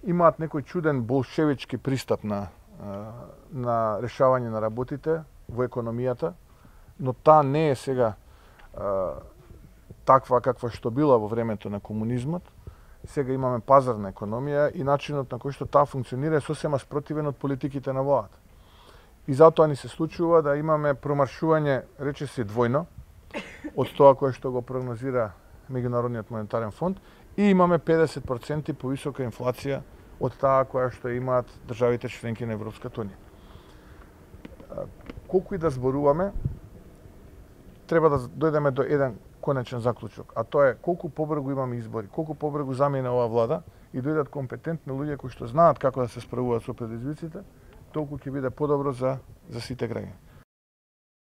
имаат некој чуден болшевички пристап на решавање на работите во економијата, но таа не е сега таква каква што била во времето на комунизмот. Сега имаме пазарна економија и начинот на кој што таа функционира е сосема спротивен од политиките на владата. И затоа ни се случува да имаме промаршување, речиси двојно, од тоа кое што го прогнозира Меѓународниот монетарен фонд, и имаме 50% повисока инфлација од таа која што имаат државите членки на Европската унија. Колку и да зборуваме, треба да дојдеме до еден конечен заклучок, а тоа е колку побрзо имаме избори, колку побрзо замине оваа влада и дојдат компетентни луѓе кои што знаат како да се справуваат со предизвиците, толку ќе биде подобро за сите граѓани.